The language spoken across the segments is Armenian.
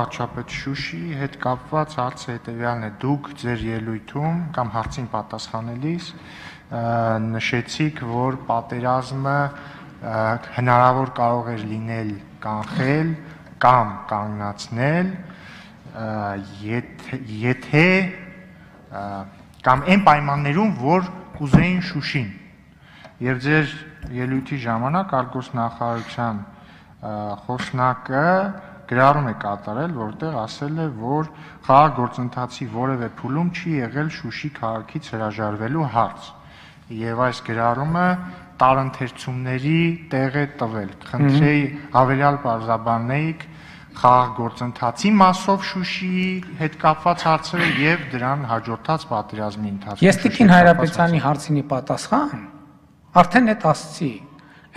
Վարչապետ Շուշի հետ կապված հարցը հետևյալն է. դուք ձեր ելույթում կամ հարցին պատասխանելիս նշեցիք, որ պատերազմը հնարավոր կարող էր լինել կանխել կամ կանգնացնել, եթե կամ այն պայմաններում, որ կուզեին Շուշին, եւ ձեր ելույթի ժամանակ արտգործնախարարության խոսնակը գրառում է կատարել, որտեղ ասել է, որ խաղաղ գործընթացի որևէ փուլում չի եղել Շուշի քաղաքից հրաժարվելու հարց, եւ այս գրառումը տարընթերցումների տեղ է տվել։ Խնդրեի հավելյալ պարզաբանեիք խաղաղ գործընթացի մասով Շուշիի հետ կապված հարցերը եւ դրան հաջորդած պատերազմի ընթացքում։ Ես Տիկին Հայրապետյանի հարցինի պատասխան արդեն այդ ասացի,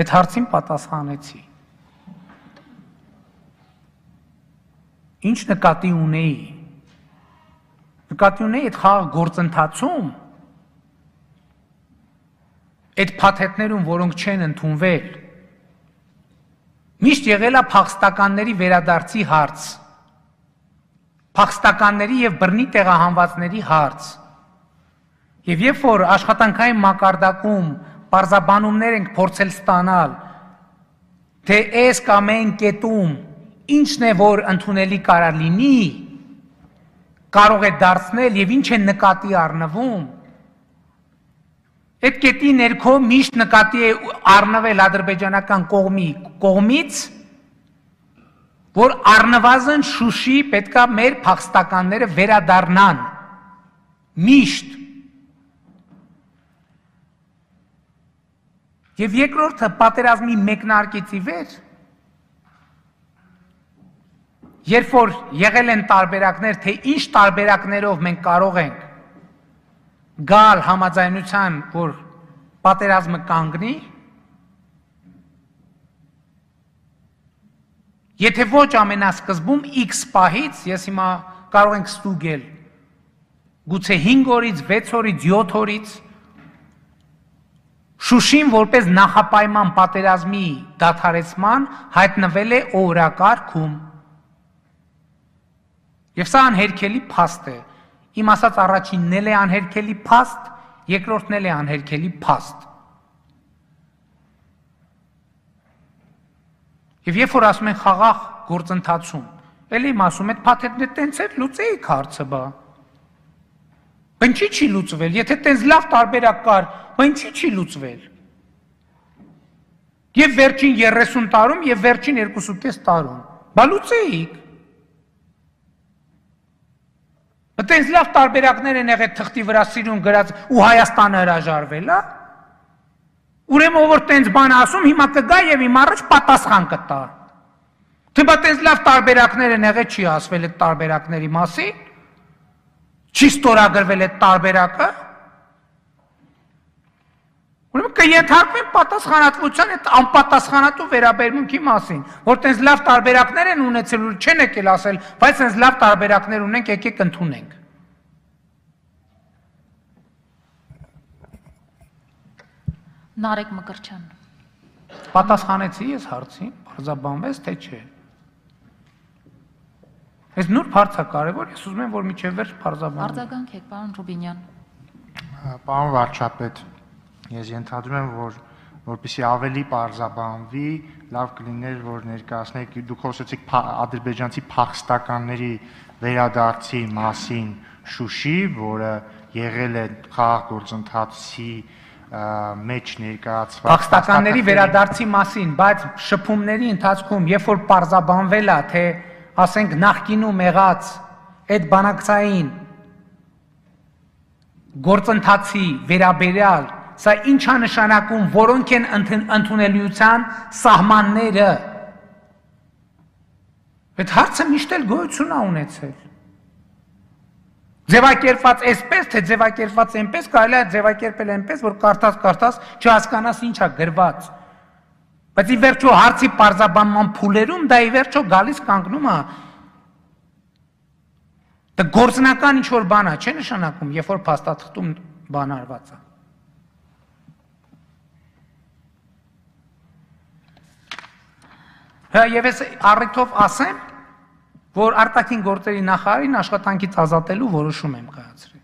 այդ հարցին պատասխանեցի։ Ինչ նկատի ունեի։ Նկատի ունեի այդ խաղաղ գործընթացում, այդ փաթեթներում, որոնք չեն ընդունվել, միշտ եղել է փախստականների վերադարձի հարց, փախստականների եւ բռնի տեղահանվածների հարց։ Եվ երբ որ աշխատանքային մակարդակում պարզաբանումներ ենք փորձել ստանալ, թե այս կամ այն կետում ինչն է, որ ընդունելի կարող լինի, կարող է դարձնել եւ ինչ է նկատի առնվում, այդ կետի ներքո միշտ նկատի է առնվել ադրբեջանական կողմից, որ առնվազն Շուշի պետքա մեր փախստականները վերադառնան, միշտ։ Եվ երկրորդը պատերազմի մեկնարկից ի վեր, երբ որ եղել են տարբերակներ, թե ինչ տարբերակներով մենք կարող ենք գալ համաձայնության, որ պատերազմը կանգնի, եթե ոչ ամենասկզբում X պահից, ես հիմա կարող ենք ստուգել, գուցե 5 օրից, 6 օրից, 7 օրից, Շուշին որպես նախապայման պատերազմի դադարեցման հայտնվել է օրակարգում։ Եվ սա անհերքելի փաստ է։ Իմ ասած առաջինն էլ է անհերքելի փաստ, երկրորդն էլ է անհերքելի փաստ։ Եվ երբ որ ասում են խաղաղ գործընթացում, էլի իմ ասում այդ փաթեթն է տենց էր լուծեիք հարցը բա։ Ինչի չի լուծվել, եթե տենց լավ տարբերակ կար, բա ինչի չի լուծվել։ Եվ վերջին 30 տարում եւ վերջին 2.5 տարում, բա լուծեիք։ Այդպես լավ տարբերակներ են եղել թղթի վրա սիրուն գրած ու Հայաստանը հրաժարվել, հա։ Ուրեմն ով որ տենց բան ասում, հիմա կգա եւ իմ առաջ պատասխան կտա։ Թե բա տենց լավ տարբերակներ են եղել, չի ասվել այդ տարբերակների մասին։ Չի ստորագրվել այդ տարբերակը։ Ուրեմն կենթարկվեն պատասխանատվության այդ անպատասխանատու վերաբերմունքի մասին, որ տենց լավ տարբերակներ են ունեցել ու չեն եկել ասել, բայց տենց լավ տարբերակներ ունենք, եկեք ընդունենք։ Նարեկ Մկրտչյան։ Պատասխանեցի ես հարցին, բարձաբանվեց, թե չէ։ Այս նուրբ հարց է կարևոր, ես ուզում եմ, որ միջև վերջ բարձաբանվի։ Արձագանքեք, պարոն Ռուբինյան։ Պարոն վարչապետ, ես ենթադրում եմ, որ որպեսզի ավելի պարզաբանվի, լավ կլիներ, որ ներկայացնեք, դուք խոսեցիք ադրբեջանցի փախստականների վերադարձի մասին Շուշի, որը եղել է խաղաղ գործընթացի մեջ ներկայացված փախստականների վերադարձի մասին, բայց շփումների ընթացքում, երբ որ պարզաբանվել է, թե ասենք նախկինում եղած այդ բանակցային գործընթացի վերաբերյալ, սա ինչ է նշանակում, որոնք են ընդունելիության սահմանները։ Այդ հարցը միշտ էլ գոյություն է ունեցել։ Ձևակերպված այսպես, թե ձևակերպված այնպես, կարելի է ձևակերպել այնպես, որ կարդաս չհասկանաս ինչ է գրված։ Բայց ի վերջո հարցի պարզաբանման փուլերում դա ի վերջո գալիս կանգնում է։ Դա գործնական ինչ-որ բան է, չէ նշանակում, երբ որ փաստաթղթում բան արված է։ Եվ ես առիթով ասեմ, որ արտաքին գործերի նախարարին աշխատանքից ազատելու որոշում եմ կայացրել։